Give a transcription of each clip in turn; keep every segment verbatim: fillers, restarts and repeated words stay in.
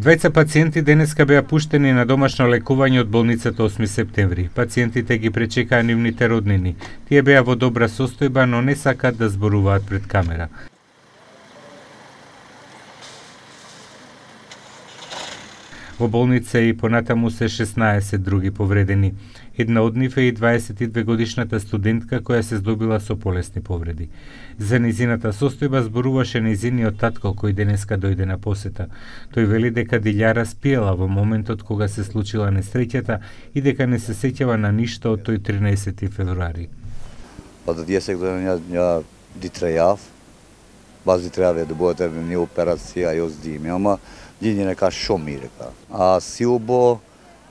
Двајца пациенти денеска беа пуштени на домашно лекување од болницата осми септември. Пациентите ги пречекаа нивните роднини. Тие беа во добра состојба, но не сакаат да зборуваат пред камера. Во болница и понатаму се шеснаесет други повредени. Една од нив е и дваесет и две годишната студентка која се здобила со полесни повреди. За низината состојба зборуваше низиниот татко кој денеска дојде на посета. Тој вели дека Дилјара спиела во моментот кога се случила несреќата и дека не се сеќава на ништо од тој тринаесети февруари. Па да тие се ја ја дитрејав, баз дитрејав да бъдете не операција јос дими, ама Дини нека шо ми река. А силбо,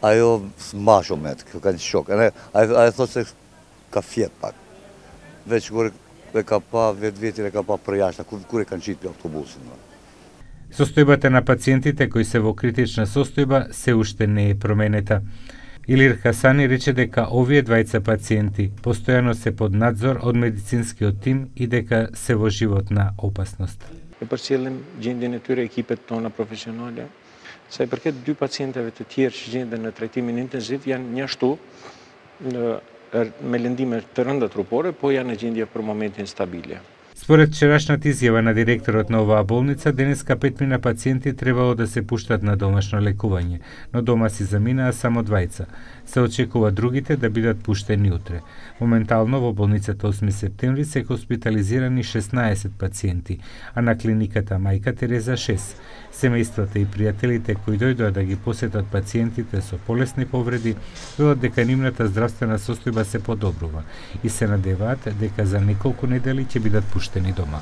а ја смашо мет, кај шок. А ја то се кафет пак. Веќе горе река па, вети река па пројашна, куре канчит автобусот. Состојбата на пациентите кои се во критична состојба се уште не е променета. Илир Хасани рече дека овие двајца пациенти постојано се под надзор од медицинскиот тим и дека се во животна опасност. E përcjellim gjendjen e tyre ekipet tona profesionale. Sa i përket dy pacientëve të tjerë që gjenden në trajtimin intensiv janë njashtu me lëndime të rënda trupore, po janë në gjendje për momentin stabile. Според вчерашната изјава на директорот на оваа болница, денеска петмина пациенти требало да се пуштат на домашно лекување, но дома си заминаа само двајца. Се очекува другите да бидат пуштени утре. Моментално во болницата осми септември се хоспитализирани шеснаесет пациенти, а на клиниката Мајка Тереза шест. Семејствата и пријателите кои дојдоа да ги посетат пациентите со полесни повреди, велат дека нивната здравствена состојба се подобрува и се надеваат дека за неколку недели ќе бидат пуштени дома.